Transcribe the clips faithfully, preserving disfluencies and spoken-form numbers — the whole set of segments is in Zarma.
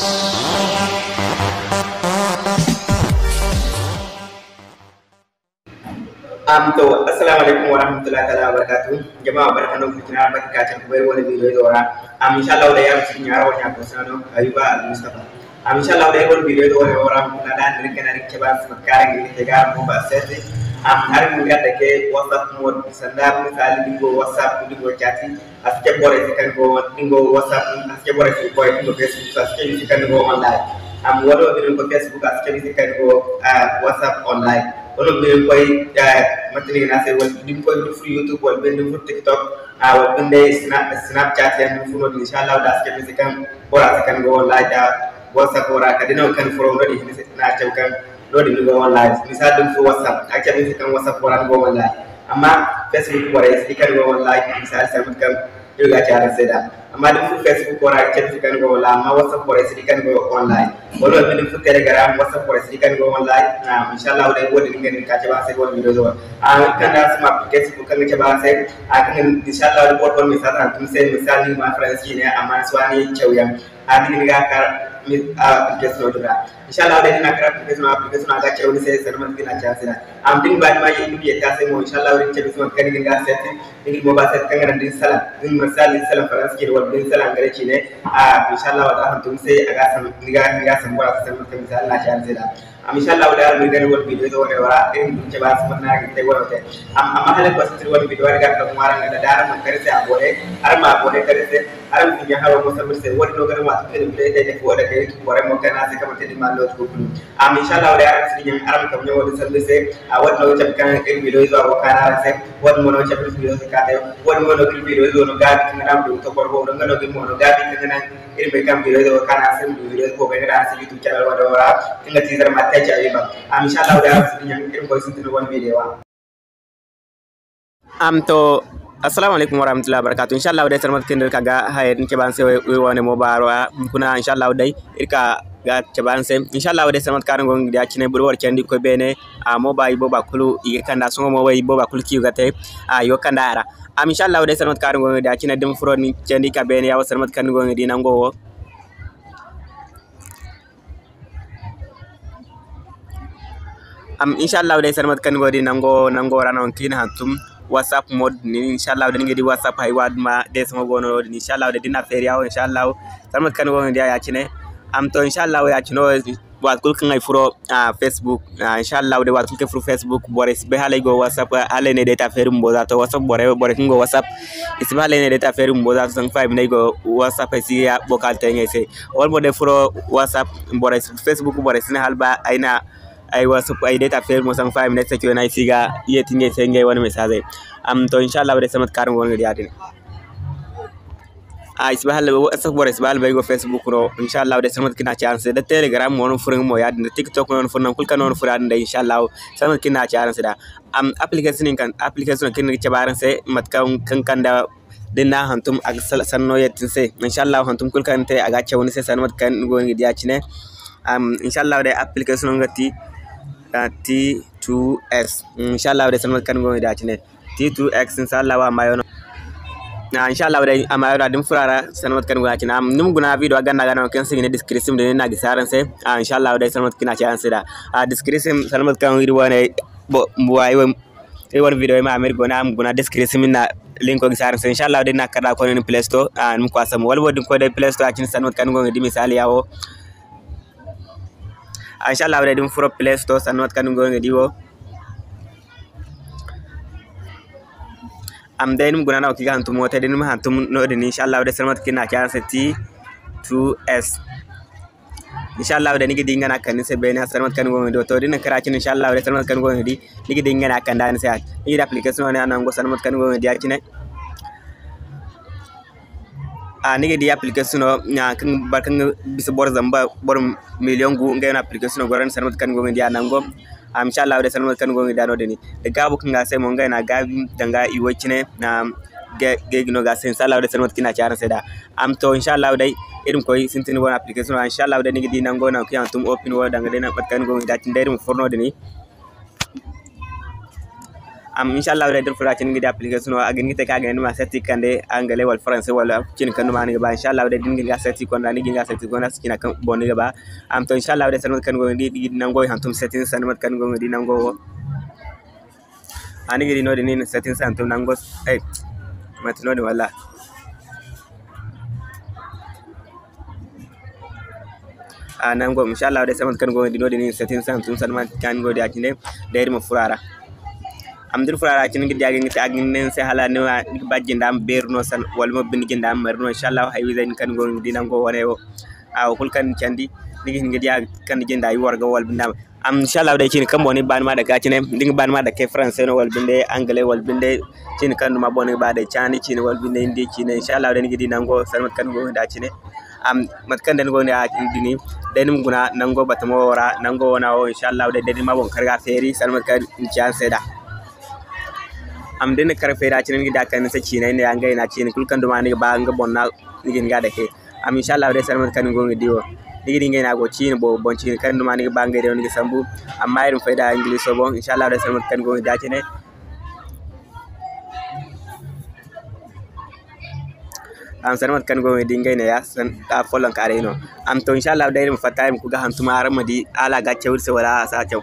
Am to, assalamu alaikum wa rahmatullahi ta'ala wa barakatuh. Jama, barka no ku jina, barka ka can ku bai wani video do ra. Am, insha Allah, da ya musu nya rawa nya ko sano, Ayuba Al Mustafa. Am, insha Allah, da wani video do ra, wara na da ni kana ri ke ba su kare ni te ga ko ba sete. Am, har mun ga da ke WhatsApp mode, sanda misali ni go WhatsApp, ni go chatting. A si cabe borey se kaŋ go, nga go WhatsApp, a si cabe borey se, borey kaŋ go Facebook, a si cabe i se kaŋ go online. Amma wala wo bine ni koy Facebook, a si cabe i se kaŋ go, ah, WhatsApp online. Wala wo bine ni koy, ah, mate no i ga ne a se, wala da ni koy ni furo YouTube, wala bine ni furo TikTok, ah, wala bine day Sna-, Snapchat yaŋ ni furo no-din, insha Allah, da a si cabe i se kaŋ bora se kaŋ go online, da WhatsApp ra, kala day nango kaŋ ni furo no-din, ni se, ni a cabe kaŋ no-din ni go online. Misali, da ni furo WhatsApp, a ga cabe ni se kaŋ WhatsApp ra ni go online. Amma Facebook borey si di kaŋ ni go online, misali, sanda mate kaŋ iri ga ci araŋ se nd'a. Amma da ni furo Facebook ra, a ga cabe ni se kaŋ ni go online. Amma WhatsApp borey si di kaŋ ni go online. Wala mo da ni furo Telegram, WhatsApp borey si di kaŋ ni go online. Ah, insha Allah, day wo-din ga ni ka cabe araŋ se wala video zo. Ah, kaŋ da araŋ si ma application kaŋ ga cabe araŋ se. Ah, kaŋ, insha Allah, da boro boro message araŋ tun se, misali, ni ma France ne, amma ni si waani cawyaŋ. A, ni ga ni ga kar, mi, a, application din ra. Insha Allah, day ni na kar application, application a ga caw ni se, sanda mate kaŋ i na caw ni se da. Am, da ni ba ni ma ye, ni ma ye ta se mo, insha Allah, day ni cabe ni se mate kaŋ ni ga ni ga setting, ni ga ni mobile setting kaŋ ga naŋ da ni salaŋ, da ni ma salaŋ, ni salaŋ faransi cine, wala da ni salaŋ gare cine. A, insha Allah, da a hantum ni se, a ga sam-, ni ga, ni ga sambu a se sanda mate kaŋ misali na caw ni se da. Am, insha Allah, da araŋ ma gana wala video zo wane wala, irin dum ce ba su mate no araŋ ga te wala te. Am, amma hala ko sitiri wala video wala ga ka ŋwaara nga da araŋ ma kare se abonné, araŋ ma abonné kare se, araŋ ma sinja haro mo sambu se, wala no ga ma to kele video day day ko da kay ko mo kana se kama te di ma no ko kulu. Am, insha Allah, da araŋ si nyaŋ araŋ kam nyaŋ wala sambu se, a wala no ga kan irin video zo go kana araŋ se, wala mo no ga video zo ka te, wala mo no ga video zo no ga kan araŋ do to korbo, nga no ga mo no ga kan nan Iri bay kaŋ video wo kaŋ a se video wo bay ga daŋ a se YouTube channel wo ra. Nga ti zarma te ci a yi ba. Am, insha Allah, da araŋ si nyaŋ iri koy sintin wani video wa. Am to, assalamu alaikum warahmatullahi wabarakatuh. Insha Allah, day sanda mate kaŋ iri ka ga hayey din cabe araŋ se iri wane mo baaro ra. Kuna, insha Allah, day iri ka ga cabe araŋ se. Insha Allah, day sanda mate kaŋ araŋ go ga di a cine boro boro candi koy beene. A mo ba i booba kulu i ga kanda sohõ mo wo i booba kulu kaŋ i ga te. A i go kanda a ra. Am, insha Allah, day sanda mate kaŋ araŋ go ga di a cine da ni furo ni candi ka beene ya wo sanda mate kaŋ ni go ga di nango wo. Am, insha Allah, day sanda mate kaŋ ni go ga di nango, nango ra no kaŋ i na hantum WhatsApp mode din. Insha Allah, day ni ga di WhatsApp hay wa duma day sohõ go no din. Insha Allah, day da ni na feeri ya wo, insha Allah, sanda mate kaŋ ni go ga di a ya cine. Am to, insha Allah, ya cine wo, waati kulu kaŋ ay furo, ah, Facebook, ah, insha Allah, day waati kulu kaŋ ay furo Facebook, borey si bay hala ay go WhatsApp, hala ay ne day ta feeri bumbo za to WhatsApp borey, borey kaŋ go WhatsApp, i si bay hala ay ne day ta feeri bumbo za to, zama fa ay ma ne ay go WhatsApp, ay si ga vocal te ngey se. Wala mo day furo WhatsApp, borey si, Facebook borey si ne hala ba ay na ay WhatsApp, ay day ta feeri mo, zama fa ay ma ne ay se ay si ga yeeti ngey se ngey wane message. Am to, insha Allah, day sanda mate kaŋ araŋ go no ga di ya-din. A, i si bay hala, WhatsApp borey si bay hala ba ay go Facebook no. Insha Allah, day sanda mate kaŋ ni na ci araŋ se. Da Telegram mo no ni furo nga mo ya-din, da TikTok no ni furo, nangu kulu kaŋ no ni furo ya-din day, insha Allah, sanda mate kaŋ ni na ci araŋ se da. Am, application kaŋ, application kaŋ ni ga cabe araŋ se, mate kaŋ, kaŋ kanda da ni na hantum a ga sal-, sanno yadda ni se. Insha Allah, hantum kulu kaŋ ni te a ga caw ni se sanda mate kaŋ ni go ga di ya cine. Am, insha Allah, day application nga ti, ah, T two S. Insha Allah, day sanda mate kaŋ ni go ga di ya cine. T two X, insha Allah, a maayo no. Ah, insha Allah, day a maayo no, da ni furo a ra, sanda mate kaŋ ni go ga di ya cine. Am, ni ma guna video ganda ga no kaŋ se i ga ne description din, ni na gisi araŋ se. Ah, insha Allah, day sanda mate kaŋ ni na ci araŋ se da. Ah, description, sanda mate kaŋ iri wane, bo, bo, ay wane, iri wane video ma a ma iri guna, a ma guna description, ni na link gisi araŋ se. Insha Allah, day ni na kar da koy ni Play Store, ah, ni ma kwasa mo. Wala wo din koy day Play Store, a cine sanda mate kaŋ ni go ga di misali ya wo. Ah, insha Allah, day da ni furo Play Store, sanda mate kaŋ ni go ga di wo. Am day ni ma guna no kaŋ i ga hantum wo te, da ni ma hantum no-din, insha Allah, day sanda mate kaŋ ni na ci araŋ se T two S. Insha Allah, day ni ga di nga no a kande ni se beene, sanda mate kaŋ ni go ga di wo. To, da ni na kar a cine, insha Allah, day sanda mate kaŋ ni go ga di, ni ga di nga no a kande ni se. Ni ga di application wo ne a nango, sanda mate kaŋ ni go ga di a cine. A, ni ga di application no, a, kaŋ boro kaŋ ga bisa boro zamba, boro million gu, ngey no application no goro, sanda mate kaŋ ni go ga di a nango. A, insha Allah, day sanda mate kaŋ ni go ga di a no-din. Da gaabu kaŋ ga se mo, ngey no a gaabi danga i way cine, a, ga, ga no ga se, insha Allah, day sanda mate kaŋ ni na ci araŋ se da. Am to, insha Allah, day iri ma koy sintin wane application no, insha Allah, day ni ga di nango no kaŋ yaŋ tum open wo danga day mate kaŋ ni go ga di a cine, day iri ma furo no-din. Am, inshallah day, da ni furo ra cine ni ga di application wo, a ga hin ga te kaŋ a ga ne ni ma setti kande, anglais wala français wala cine kaŋ duma ni ga ba. Inshallah day, da ni ga hin ga setti konda, ni ga hin ga setti konda, cine kaŋ boŋ ni ga ba. Am, to, inshallah day, sanda mate kaŋ ni go ga di, ni ga di nango i hantum settings, sanda mate kaŋ ni go ga di nango wo. A ni ga di noodin, ni na settings hantum nango, ay, manti noodin wala. A nango, inshallah day, sanda mate kaŋ ni go ga di noodin, ni na settings hantum, sanda mate kaŋ ni go ga di a cine, day iri ma furo a ra. Amma da ni furo a ra cine, ni ga di a ga hin ga te, a ga hin ga ne ni se hala ni ma, ni ga ba jinda ma beeri no, san-, wala mo binde jinda ma mari no, inshallah, hay wiizey din kaŋ ni go ga di nango wane wo. A wo kulu kaŋ ni candi, ni ga hin ga di a kaŋ ni jinda i warga wala binde. Am, inshallah day, cine kaŋ boŋ ni ga ba ni ma dake a cine, da ni ga ba ni ma dake français no wala binde anglais wala binde cine kaŋ duma boŋ ni ga ba day, caani cine wala binde hindi cine, inshallah day, ni ga di nango sanda mate kaŋ ni go ga di a cine. Am, mate kaŋ day ni go ga di a cine din, day ni ma guna nango batamo wo ra, nango wana wo, inshallah day, day ni ma boŋ kar ga feeri sanda mate kaŋ ni ci araŋ se nd'a. Am, da ni na kar feeri a cine, ni ga di a kande ni se ciinay ne ya, ngey no a ciine kulu kaŋ duma ni ga ba nga boŋ no, ni ga hin ga a dake. Am, inshallah day, sanda mate kaŋ ni go ga di wo, ni ga di ngey no a go ciine boobo boŋ, ciine kaŋ duma ni ga ba ngey day wo ni ga sambu. Amma iri ma fay da Ingiliso boŋ, inshallah day, sanda mate kaŋ ni go ga di a cine. Am, sanda mate kaŋ ni go ga di ngey ne ya, san-, a follonkaaray no. Am, to, inshallah day, iri ma fatta, iri ma koy ga hantum, araŋ ma di hala a ga caw iri se wala a si a caw.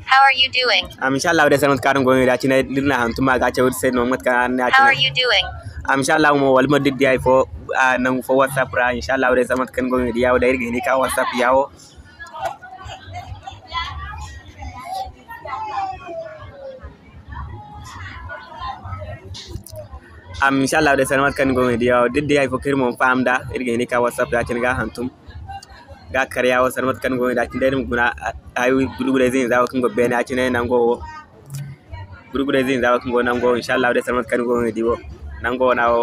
How are you doing? Am, inshallah day, sanda mate kaŋ araŋ go ga di a cine, da iri na hantum a ga caw iri se no mate kaŋ araŋ ne a cine. How are you doing? Am, inshallah mo, wala mo da iri di hay fo, a, nangu fo WhatsApp ra, inshallah day, sanda mate kaŋ ni go ga di ya wo, day iri ga hin ga ka WhatsApp ya wo. Am, inshallah day, sanda mate kaŋ ni go ga di ya wo, da iri di hay fo kaŋ iri mo ma faham nd'a, iri ga hin ga ka WhatsApp ya cine ga hantum. Ga kar ya wo, sanda mate kaŋ ni go ga di a cine, day iri ma guna, a, ay, gurgure zinza wo kaŋ go beene a cine nango wo. Gurgure zinza wo kaŋ go nango, inshallah day, sanda mate kaŋ ni go ga di wo. Nango wana wo,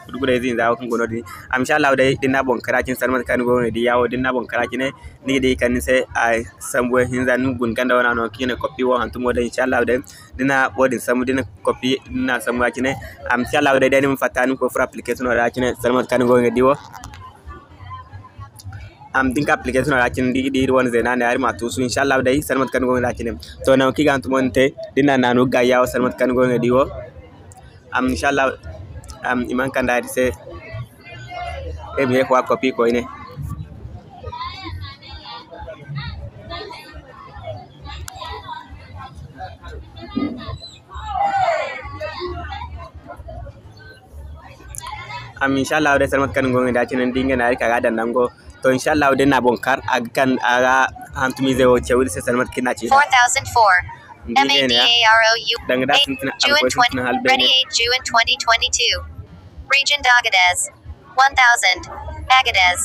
gurgure zinza wo kaŋ go noodin. Am, inshallah day, da ni na boŋ kar a cine, sanda mate kaŋ ni go ga di ya wo, da ni na boŋ kar a cine, ni ga di kala ni se a sambu hinza, ni ma guna ganda wana no kaŋ i ne copy wo hantumo day, inshallah day, da ni na wo-din sambu, da ni na copy, da ni na sambu ya cine. Am, inshallah day, day ni ma fatta, ni ma koy furo application wo ra cine, sanda mate kaŋ ni go ga di wo. Am, da ni ka application ra cine, da iri wane zeena ne, iri ma a tuusu, inshallah day, sanda mate kaŋ ni go ga di a cine. To, nangu kaŋ i ga hantumo din te, da ni na naanu ga ya wo, sanda mate kaŋ ni go ga di wo. Am, inshallah, am, i mana kande iri se, iri ma ye ka wa copy koyne. Am, inshallah day, sanda mate kaŋ ni go ga di a cine, ni di nga no iri ka ga daŋ nango. To, inshallah day, ni na boŋ kar, a ga kan, a ga hantumize wo caw iri se, sanda mate kaŋ iri na ci. Four thousand four. Ni di nga no ya. Danga da sintina, alkoy sintina hala beene. Region d'Agadez. One thousand. Agadez.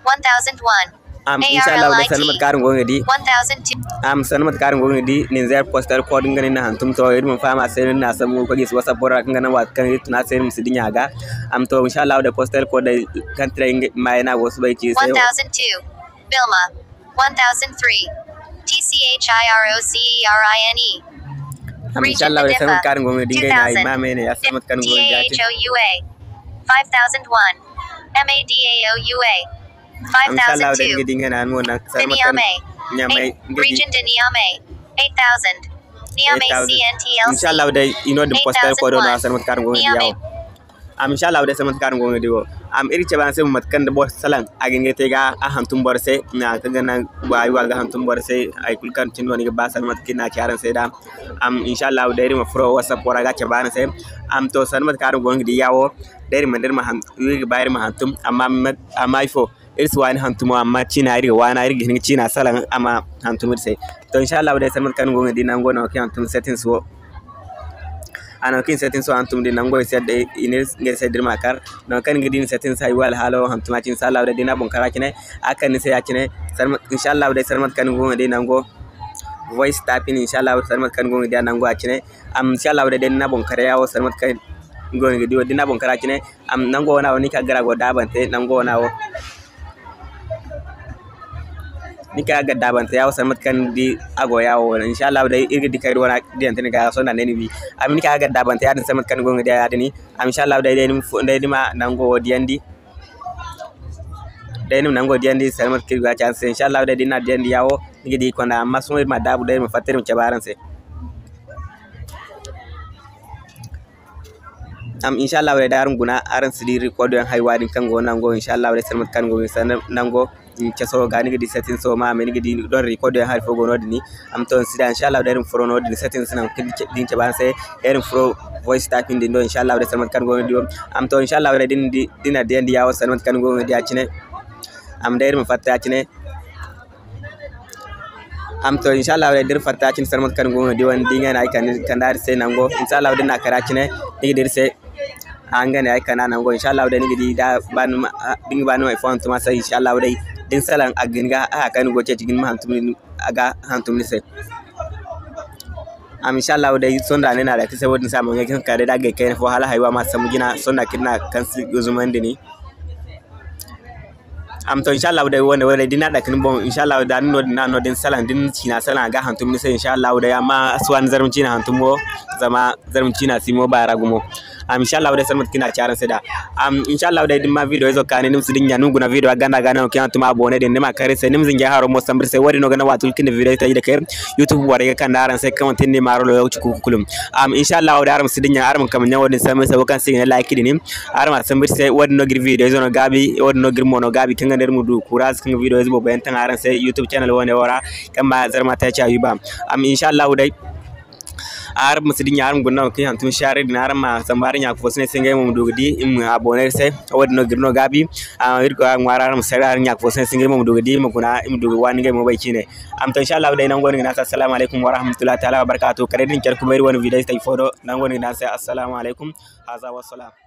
One thousand one. Am, inshallah day, sanda mate kaŋ araŋ go ga di. One thousand two. Am, sanda mate kaŋ araŋ go ga di, Niger postal code nga no ni na hantum to, iri ma faham a se no ni na sambu ka gisi WhatsApp bora kaŋ ga naŋ waati kaŋ iri tun a se iri ma si dinya ga. Am, to, inshallah day, postal code day kaŋ tiray nga maayo no a go ga soobay ci iri se. One thousand two. Bilma. One thousand three. T C H I R O C E R I N E. Am, inshallah day, sanda mate kaŋ araŋ go ga di ngey no ay ma me ne ya, sanda mate kaŋ go ga di. T H O U A. Five thousand one. M A D A O U A. Am, inshallah day, ni ga di nga no mo naŋ, sanda mate kaŋ Niamey. Region de Niamey. Eight thousand. Niamey C N T L C. Inshallah day, i no din postal code no, sanda mate kaŋ araŋ go ga di ya wo. Am, inshallah day, sanda mate kaŋ araŋ go ga di wo. Am, iri cabe araŋ se mo mate kaŋ da boro salaŋ, a ga hin ga te ga a hantum boro se, nangu kaŋ ga naŋ, wa, ay wa ga hantum boro se, hay kulu kaŋ cine no ni ga ba, sanda mate kaŋ iri na ci araŋ se nd'a. Am, inshallah day, iri ma furo WhatsApp wo ra ga cabe araŋ se. Am, to, sanda mate kaŋ araŋ go ga di ya wo, day iri ma, day iri ma han-, iri ga ba iri ma hantum, amma, amma ifo, iri si waani hantumo, amma ciina iri ga waana, iri ga hin ga ciina salaŋ a ma hantum iri se. To, inshallah day, sanda mate kaŋ ni go ga di nango no kaŋ hantum settings wo. A no kaŋ settings wo hantum din nango i se day, i ne ngey se da iri ma kar. No kaŋ ni ga di ni settings hay wala hala wo hantum a cine, inshallah day, da ni na boŋ kar a cine, a ga kande ni se ya cine. Sanda mate, inshallah day, sanda mate kaŋ ni go ga di nango voice tapping, inshallah, sanda mate kaŋ ni go ga di a nango a cine. Am, inshallah day, da ni na boŋ kar ya wo, sanda mate kaŋ ni go ga di wo, da ni na boŋ kar a cine. Am, nango wana wo, ni ka gara go daabante, nango wana wo. Ni ka ga daabante yawo sanda mate kaŋ ni di a go yawo. Inshallah day iri ga di kaŋ iri wane diyante ni ga sohõ da ne ni wi. Amma ni ka ga daabante yaadin sanda mate kaŋ ni go ga di yaadin. Amma inshallah day, day ni ma fo-, day ni ma nango wo diyandi. Day ni ma nango diyandi sanda mate kaŋ iri ga ci araŋ se. Inshallah day da ni na diyandi yawo, ni ga di i konda. Amma sohõ iri ma daabu day iri ma fatta iri ma cabe araŋ se. Am, inshallah day da araŋ guna, araŋ si di record yaŋ haywa din kaŋ go nango, inshallah day sanda mate kaŋ ni go ga ni sanda nango. Caso ga ni ga di settings o ma me ni ga di don record yaŋ hari fo go no din. Am to, ni si da inshallah day iri ma furo no din settings naŋ kaŋ din cabe araŋ se, iri ma furo voice typing din do inshallah day sanda mate kaŋ ni go ga ni di wo. Am to, inshallah day da ni di, da ni na diyandi yawo sanda mate kaŋ ni go ga ni di ya cine. Am day iri ma fatta ya cine. Am to, inshallah day da iri fatta cine sanda mate kaŋ ni go ga di wane, da nga no ay kande, kande iri se nango. Inshallah day da ni na kara cine, ni ga di iri se. A nga no ay kande nango. Inshallah day ni ga di da ba ni ma, a, da ni ga ba ni ma ay fo hantum a se, inshallah day da ni salaŋ a ga hin ga haya kaŋ ni go ga ceeci ga ni ma hantum ni, a ga hantum ni se. Am, inshallah day sohõ da ni na da ka se wo-din se a ma ɲa kaŋ ka day da a ga kayna fo hala haywa ma sambu jina sohõ da kaŋ iri na kaŋ si ga zumandi ni. Am to, inshallah day wane, wane da ni na dake ni boŋ, inshallah da ni no din, na no din salaŋ, da ni ciina salaŋ a ga hantum ni se, inshallah day, amma a si waani zarma ciina hantum wo, zama zarma ciina si mo baara gumo. Am, inshallah day sanda mate kaŋ iri na ci araŋ se da. Am, inshallah day da ni ma video izo kaani, ni ma si dinya, ni ma guna video ganda ga no kaŋ hantum abonné din, ni ma kar iri se, ni ma zinjay haro mo sambu iri se, wo-din no ga naŋ waati kulu kaŋ iri na video taji da kay YouTube borey ga kande araŋ se kaŋ manti ni maaro lokaci kuuku kulu. Am, inshallah day araŋ ma si dinya, araŋ ma kambe ɲaŋo din sambu iri se, wo kaŋ se i ga ne like din. Araŋ ma sambu iri se, wo-din no ga iri video izo no gaabi, wo-din no ga iri mo no gaabi, kaŋ ga naŋ iri ma du courage kaŋ ga video izo boobo yaŋ taŋ araŋ se YouTube channel wane wo ra, kaŋ ma zarma te ci a wi ba. Am, inshallah day, araŋ ma si dinya, araŋ ma guna kaŋ hantum share din, araŋ ma sambu araŋ ɲa fo se ne se ngey mo ma du ga di, i ma abonné iri se, wo-din no ga iri no gaabi. Am, iri ga ŋwaari araŋ ma share araŋ ɲa fo se ne se ngey mo ma du ga di, i ma guna, i ma du ga waani ngey mo bay ciine. Am to, inshallah day nango no ga ne araŋ se assalamu alaykum warahmatullahi taala wabarakatuh. Kala day da ni care kuma iri wane video taji fo do, nango no ga ne araŋ se assalamu alaykum. Haza wassalam.